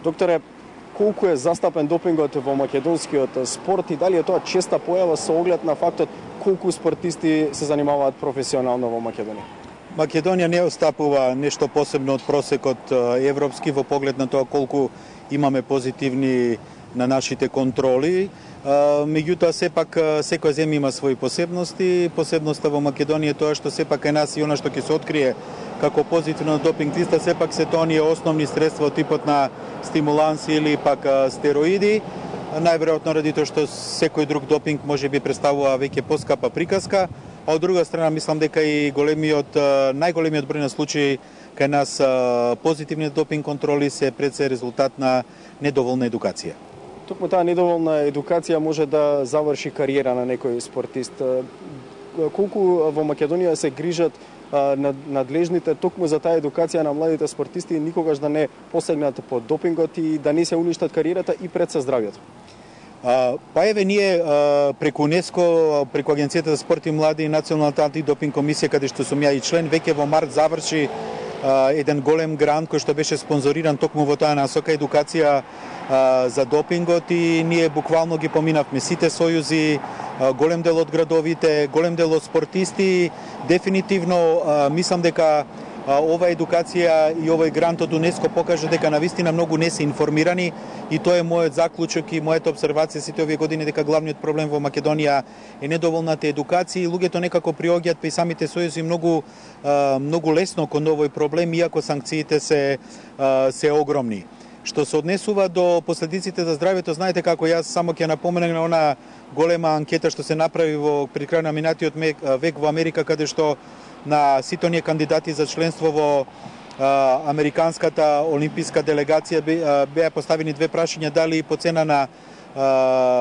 Докторе, колку е застапен допингот во македонскиот спорт и дали е тоа честа појава со оглед на фактот колку спортисти се занимаваат професионално во Македонија? Македонија не остапува нешто посебно од просекот европски во поглед на тоа колку имаме позитивни на нашите контроли. Меѓутоа, сепак, секоја земја има своји посебности. Посебноста во Македонија е тоа што сепак е нас и она што ќе се открие како позитивно допинг листа, сепак се тоа оние основни средства од типот на стимуланси или пак стероиди. Најверојатно ради тоа што секој друг допинг може би представува веќе поскапа приказка, а од друга страна мислам дека и најголемиот број на случаи кај нас позитивни допинг контроли се пред се резултат на недоволна едукација. Токму таа недоволна едукација може да заврши кариера на некој спортист. Колку во Македонија се грижат надлежните токму за таа едукација на младите спортисти никогаш да не посегнат по допингот и да не се уништат кариерата и пред се здравјето? Па еве ние преку УНЕСКО, преку Агенцијата за спорт и млади и Националната антидопинг комисија, каде што сум ја и член, веќе во март заврши еден голем грант кој што беше спонзориран токму во таа насока едукација за допингот и ние буквално ги поминавме сите сојузи, голем дел од градовите, голем дел од спортисти. Дефинитивно мислам дека ова едукација и овој грант од УНЕСКО покажа дека навистина многу не се информирани и тоа е мојот заклучок и мојата обсервација сите овие години дека главниот проблем во Македонија е недоволната едукација и луѓето некако приоѓаат па и самите сојузи многу лесно кон овој проблем иако санкциите се огромни. Што се однесува до последиците за здравјето, знаете како јас само ќе напоменам на она голема анкета што се направи пред крај на минатиот век во Америка, каде што на сите оние кандидати за членство во американската олимписка делегација беа поставени две прашања дали по цена на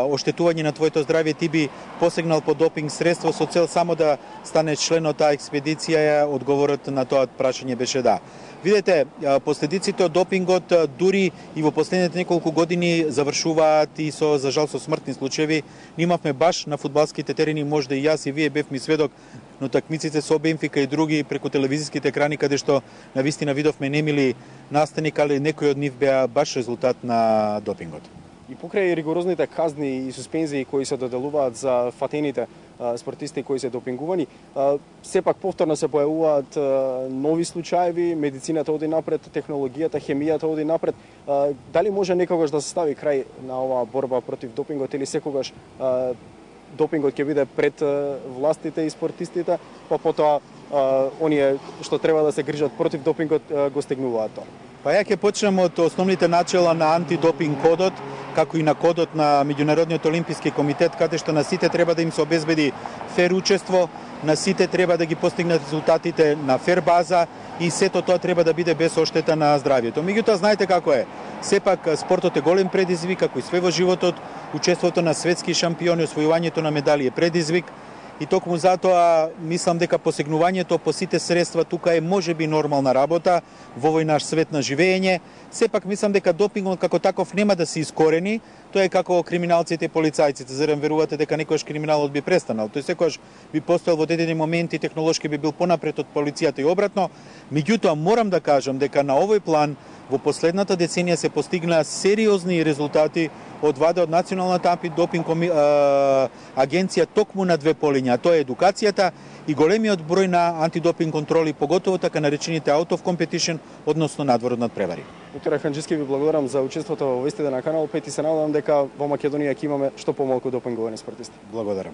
оштетување на твоето здравје ти би посегнал по допинг средство со цел само да станеш член од таа експедиција. Одговорот на тоа прашање беше да. Видете, последиците од допингот дури и во последните неколку години завршуваат и за жал со смртни случаи. Имавме баш на фудбалските терени, можда и јас и вие бевме сведок на такмиците со Бенфика и други преку телевизиските екрани каде што навистина видовме немили настани, али некои од нив беа баш резултат на допингот. И покрај ригорозните казни и суспензии кои се доделуваат за фатените спортисти кои се допингувани, сепак повторно се појавуваат нови случаи, медицината оди напред, технологијата, хемијата оди напред. Дали може некогаш да се стави крај на оваа борба против допингот или секогаш допингот ќе биде пред властите и спортистите, па потоа оние што треба да се грижат против допингот го стегнуваат тоа? Па ја ќе почнем од основните начела на антидопинг кодот, како и на кодот на Меѓународниот олимписки комитет, каде што на сите треба да им се обезбеди фер учество, на сите треба да ги постигнат резултатите на фер база и сето тоа треба да биде без оштета на здравјето. Меѓутоа, знаете како е, сепак спортот е голем предизвик, како и све во животот, учеството на светски шампиони, освојувањето на медали е предизвик. И токму затоа мислам дека посегнувањето по сите средства тука е можеби нормална работа во овој наш свет на живење. Сепак мислам дека допингот како таков нема да се искорени. Тоа е како криминалците и полицајците. Зарем верувате дека некојаш криминалот би престанал? Тој секогаш би постоел во одредени моменти, технолошки би бил понапред од полицијата и обратно. Меѓутоа морам да кажам дека на овој план во последната деценија се постигна сериозни резултати од ваде од Националната антидопинг агенција токму на две полиња, тоа е едукацијата и големиот број на антидопинг контроли, поготово така наречените out of competition, односно надвор од надпревари. Доктор Ханџиски, ви благодарам за учеството во вестите на Канал 5 и се надевам дека во Македонија ќе имаме што помалку допинговани спортисти. Благодарам.